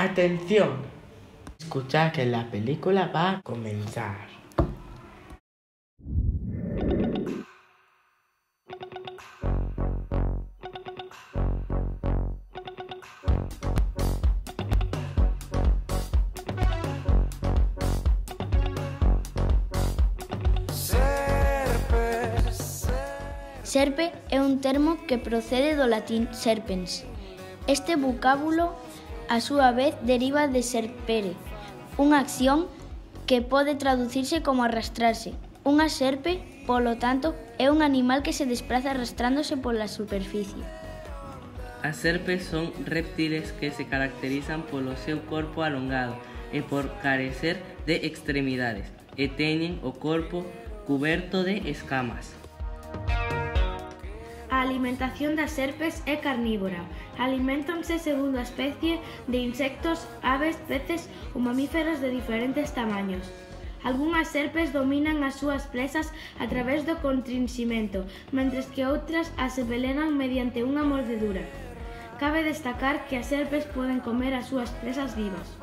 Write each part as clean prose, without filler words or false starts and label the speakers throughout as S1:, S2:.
S1: Atención, escucha que la película va a comenzar.
S2: Serpe é un termo que procede do latín serpens. Este vocábulo, a súa vez, deriva de serpere, unha acción que pode traducirse como arrastrarse. Unha serpe, polo tanto, é un animal que se despraza arrastrándose pola superficie.
S3: As serpes son réptiles que se caracterizan polo seu corpo alongado e por carecer de extremidades, e teñen o corpo cuberto de escamas.
S4: A alimentación das serpes é carnívora. Aliméntanse segundo a especie de insectos, aves, peces ou mamíferos de diferentes tamaños. Algunhas serpes dominan as súas presas a través do constrinximento, mentres que outras as envelenan mediante unha mordedura. Cabe destacar que as serpes poden comer as súas presas vivas.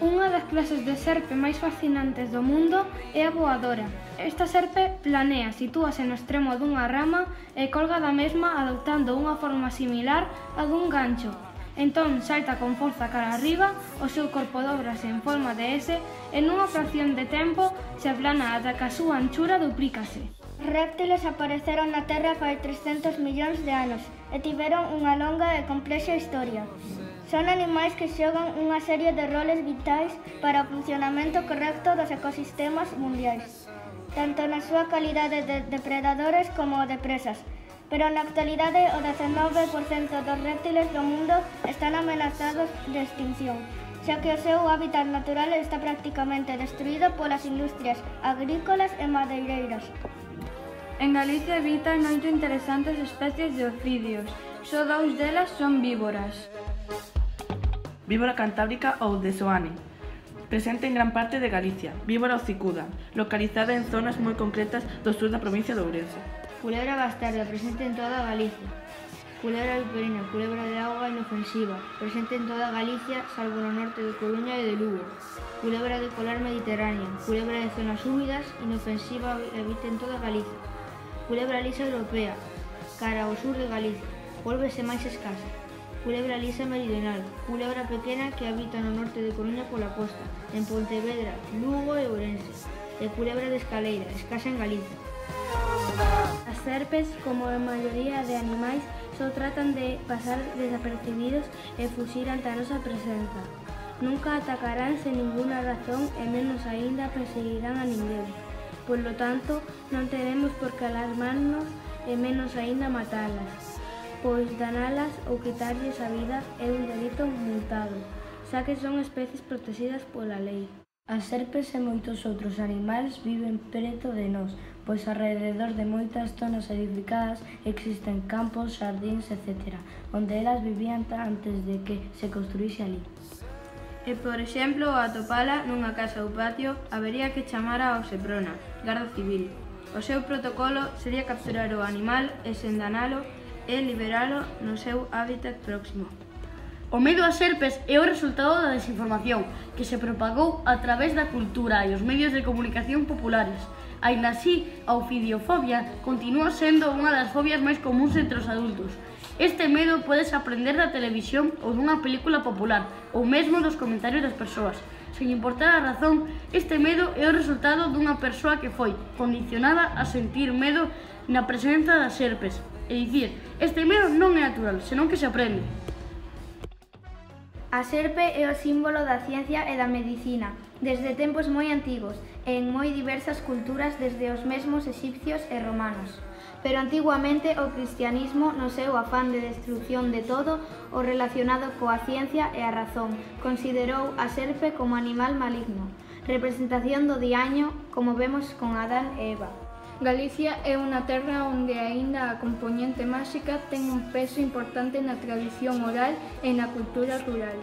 S5: Unha das clases de serpe máis fascinantes do mundo é a voadora. Esta serpe planea, sitúase no extremo dunha rama e colga da mesma adoptando unha forma similar á dun gancho. Entón salta con forza cara arriba, o seu corpo dóbrase en forma de S e nunha fracción de tempo se aplana ata que a súa anchura duplícase.
S6: Os réptiles apareceron na Terra fai 300 millóns de anos e tiveron unha longa e complexa historia. Son animais que xogan unha serie de roles vitais para o funcionamento correcto dos ecosistemas mundiais, tanto na súa calidade de depredadores como de presas. Pero na actualidade o 19% dos réptiles do mundo están amenazados de extinción, xa que o seu hábitat natural está prácticamente destruído polas industrias agrícolas e madeireiras.
S5: En Galicia habitan 8 interesantes especies de ofídeos, só 2 delas son víboras.
S7: Víbora cantábrica ou de Soane, presente en gran parte de Galicia. Víbora hocicuda, localizada en zonas moi concretas do sur da provincia de Ourense.
S4: Culebra bastarda, presente en toda Galicia. Culebra viperina, culebra de auga inofensiva, presente en toda Galicia, salvo no norte de Coruña e de Lugo. Culebra de colar mediterránea, culebra de zonas húmidas, inofensiva, habita en toda Galicia. Culebra lisa europea, cara ao sur de Galicia, vólvese máis escasa. Culebra lisa meridional, culebra pequena que habita no norte de Coruña pola costa, en Pontevedra, Lugo e Ourense. E culebra de escaleira, escasa en Galicia.
S5: As serpes, como a maioría de animais, só tratan de pasar desapercibidos e fuxir ante a nosa presenza. Nunca atacarán sen ninguna razón e menos aínda perseguirán a ninguén. Por lo tanto, non teremos por que alarmarnos e menos aínda matalas, pois danalas ou quitarlles a vida é un delito multado, xa que son especies protegidas pola lei.
S4: As serpes e moitos outros animais viven preto de nós, pois alrededor de moitas zonas edificadas existen campos, xardíns, etc., onde elas vivían antes de que se construíse ali.
S5: E, por exemplo, ao atopala nunha casa ou patio, habería que chamar ao Seprona, Garda Civil. O seu protocolo sería capturar o animal e sen danalo e liberalo no seu hábitat próximo.
S8: O medo ás serpes é o resultado da desinformación que se propagou a través da cultura e os medios de comunicación populares. Aínda así, a ofidiofobia continúa sendo unha das fobias máis comúns entre os adultos. Este medo podes aprender da televisión ou dunha película popular, ou mesmo dos comentarios das persoas. Sen importar a razón, este medo é o resultado dunha persoa que foi condicionada a sentir medo na presenza das serpes. É dicir, este medo non é natural, senón que se aprende.
S6: A serpe é o símbolo da ciencia e da medicina, desde tempos moi antigos e en moi diversas culturas desde os mesmos exipcios e romanos. Pero antiguamente o cristianismo, no seu afán de destrucción de todo o relacionado coa ciencia e a razón, considerou a serpe como animal maligno, representación do diaño, como vemos con Adán e Eva.
S5: Galicia é unha terra onde aínda a compoñente máxica ten un peso importante na tradición oral e na cultura rural.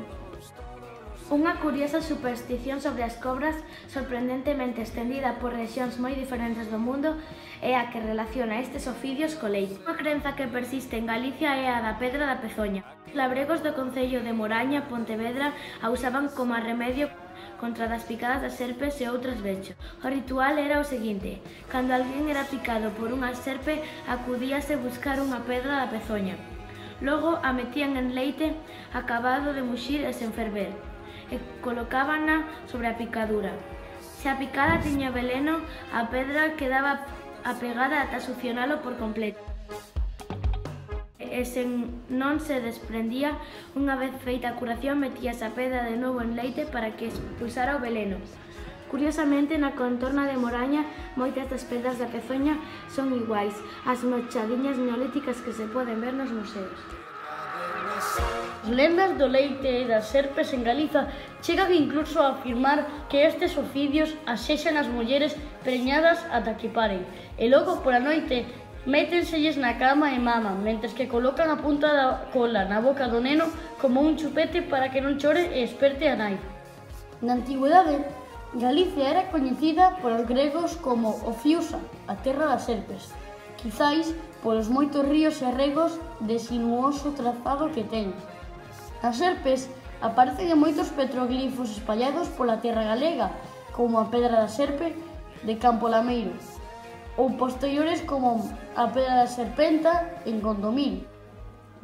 S5: Unha curiosa superstición sobre as cobras, sorprendentemente estendida por rexións moi diferentes do mundo, é a que relaciona estes oficios co leite. Unha crenza que persiste en Galicia é a da pedra da pezoña. Os labregos do concello de Moraña, Pontevedra, a usaban como remedio contra das picadas das serpes e outros vechos. O ritual era o seguinte: cando alguén era picado por unha serpe, acudíase buscar unha pedra da pezoña. Logo a metían en leite acabado de muxir e sen ferver, e colocábana sobre a picadura. Se a picada tiña veleno, a pedra quedaba apegada ata succionalo por completo. E sen non se desprendía, unha vez feita a curación, metíase a pedra de novo en leite para que expulsara o veleno. Curiosamente, na contorna de Moraña, moitas das pedras da pezoña son iguais ás machadiñas neolíticas que se poden ver nos museos.
S8: As lendas do leite e das serpes en Galiza chegan incluso a afirmar que estes oficios asexan as mulleres preñadas ata que paren, e logo pola noite métenselles na cama e maman, mentres que colocan a punta da cola na boca do neno como un chupete para que non chore e esperte a nai. Na antigüedade, Galicia era coñecida polos gregos como Ofiusa, a terra das serpes, quizáis polos moitos ríos e regos de sinuoso trazado que ten. As serpes aparecen en moitos petroglifos espallados pola terra galega, como a pedra da serpe de Campo Lameiro, ou posteriores como a pedra da serpenta en Gondomil.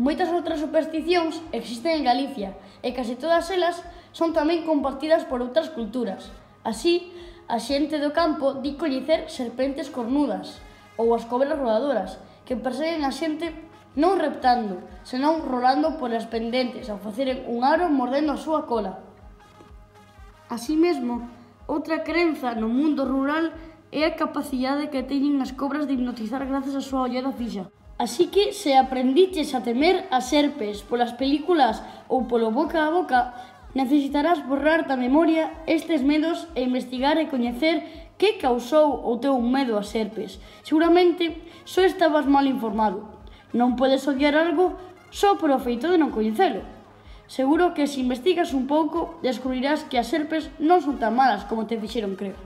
S8: Moitas outras supersticións existen en Galicia e case todas elas son tamén compartidas por outras culturas. Así, a xente do campo di coñecer serpentes cornudas ou as cobras rodadoras, que perseguen a xente non reptando, senón rolando polas pendentes ao faceren un aro mordendo a súa cola. Así mesmo, outra crenza no mundo rural é a capacidade que teñen as cobras de hipnotizar grazas á súa ollada fixa. Así que, se aprendiches a temer as serpes polas películas ou polo boca a boca, necesitarás borrar da memoria estes medos e investigar e coñecer que causou o teu medo ás serpes. Seguramente, só estabas mal informado. Non podes odiar algo só por o feito de non coñecelo. Seguro que se investigas un pouco, descubrirás que as serpes non son tan malas como te fixeron crer.